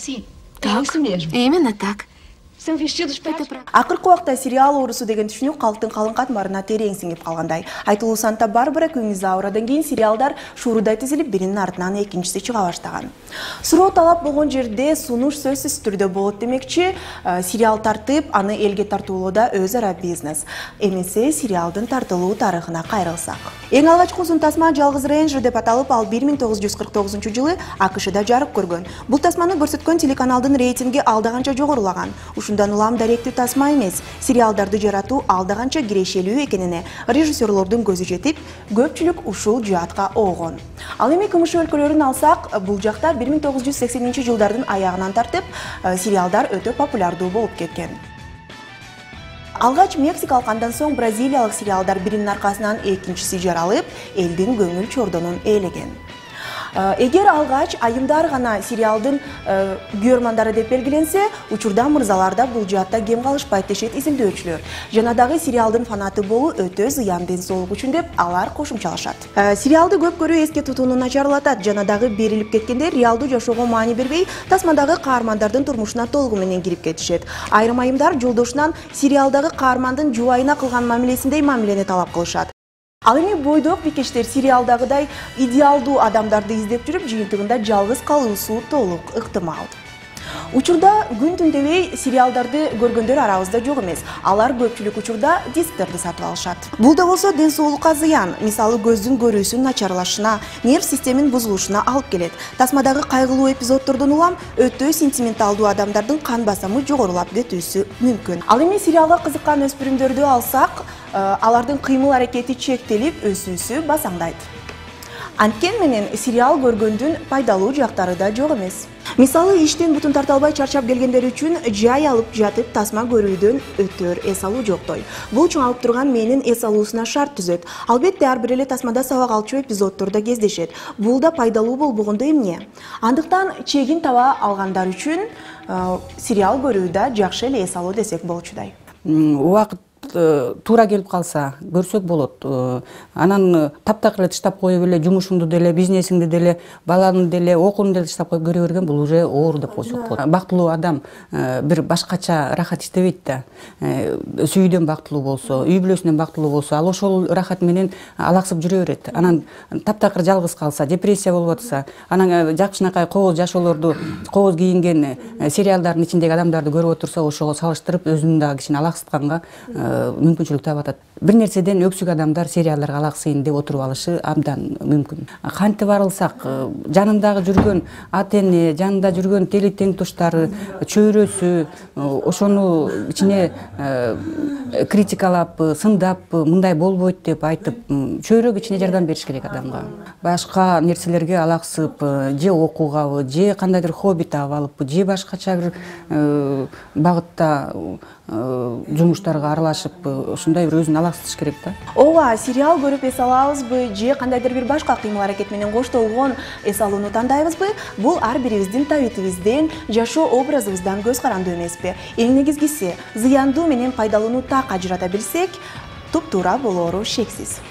Sim, Так, isso mesmo. именно так. São vestidos práticos. Акыркы убакта сериал оорусу деген түшүнүү калктын калың катмарына терең сиңип калгандай. Айтылуу Санта-Барбара күңүз аурадан кийин сериалдар шуурудай тизилип, биринин артынан экинчиси чыга баштаган. Суроо талап болгон жерде сунуш сөзсүз түрдө болот демекчи, сериал тартып, аны элге тартуулоодо өз ара бизнес. Эмесе сериалдын тартылуу тарыхына кайрылсак. Эң алгачкы узун тасма Жалгыз Рейнджер деп аталып, ал 1949-жылы АКШда жарык көргөн. Бул тасманы көрсөткөн телеканалдын рейтинги алда канча жогорулаган. Ушундан улам даректүү тасма эмес, сериалдарды жаратуу алда канча кирешелүү экенине режиссерлордун көзү жетип, көпчүлүк ушул жаатка оогон. Ал эми КМШ өлкөлөрүн алсак, бул жакта 1980-жылдардын аягынан тартып, сериалдар өтө популярдуу болуп кеткен. Алгач Мексикалык, андан соң бразилиялык сериалдар биринин аркасынан экинчиси жаралып, элдин көңүл чордонун ээлеген. Эгер алгач айымдар гана сериалдын көрмандары деп белгиленсе, учурда мырзаларда бул жаатта кем калышпайт дешет изилдөөчүлөр. Жана дагы сериалдын фанаты болуу өтө зыян ден соолук үчүн деп алар кошумчалашат. Сериалды көп көрүү эске тутууну начарлатат, жана дагы берилип кеткенде реалдуу жашоого маани бербей, тасмадагы каармандардын турмушуна толугу менен кирип кетишет. Айрым айымдар жолдошунан сериалдагы каармандын жубайына кылган мамилесиндей мамилени талап кылышат. Ал эми бойдок бикештер сериалдагыдай идеалдуу адамдарды издеп жүрүп, жыйынтыгында жалгыз калуусу толук ыктымал. Учурда күн түн дебей сериалдарды көргөндөр арабызда жок эмес. Алар көпчүлүк учурда дисктерди сатып алышат. Бул да болсо ден соолукка зыян. Мисалы көздүн көрүүсүнүн начарлашына, нерв системанын бузулушуна алып келет. Тасмадагы кайгылуу эпизоддордон улам өтө сентименталдуу адамдардын кан басымы жогорулап кетүүсү мүмкүн. Ал эми сериалга кызыккан өспүрүмдөрдү алсак, алардын кыймыл аракети чектелип, өсүүсү басаңдайт. Анткени менен сериал көргөндүн пайдалуу жактары да жок эмес. Мисалы, иштен бутун тарта албай чарчап келгендер үчүн жай алып жатып тасма көрүүдөн өтөр эс алуу жоктой. Бул чоңалып турган мээнин эс алуусуна шарт түзөт. Албетте ар бир эле тасмада сабак алчу эпизоддордо кездешет. Бул да пайдалуу болбогондо эмне? Андыктан чегин таба алгандар үчүн сериал көрүүдө жакшы эле эс алуу десек болчудай. Убакыт туура келип калса көрсөк болот. Анан таптакыр таштап коюп эле жумушуңду деле, бизнесиңди деле, баланы деле, окууну деле таштап коюп көрө берген бул уже оор деп койсок болот. Бактылуу адам бир башкача рахат издебейт да. Сүйүүдөн бактылуу болсо, үй бүлөсүнөн бактылуу болсо, ал ошол рахат менен алаксып жүрө берет. Анан таптакыр жалгыз калса, депрессия болуп атса, анан жакшынакай кооз жашоолорду, кооз кийинген сериалдардын ичиндеги адамдарды көрүп отурса, ошого салыштырып өзүн дагы кичине алаксытканга мүмкүнчүлүк таап атат. Бир нерседен өксүк адамдар сериалдарга алаксыйын деп отуруп алышы абдан мүмкүн. Кантип арылсак, жанындагы жүргөн ата-эне, жанында жүргөн тели тең туштары, чөйрөсү, ошону кичине критикалап, сындап, мындай болбойт деп айтып, чөйрө кичине жардам бериш керек адамга. Башка нерселерге алаксып, же окуугабы, же кандайдыр хобби таап алып, же башкача бир багытта жумуштарга аралашып, ушундай бир өзүн алаксытыш керек да. Ооба, сериал көрүп эс алабызбы, же кандайдыр бир башка кыймыл аракет менен коштолгон эс алууну тандайбызбы? Бул ар бирибиздин табитибизден, жашоо образыбыздан көз карандуу эмеспи? Эң негизгиси, зыяндуу менен пайдалууну так ажырата билсек, туп-туура болоору шексиз.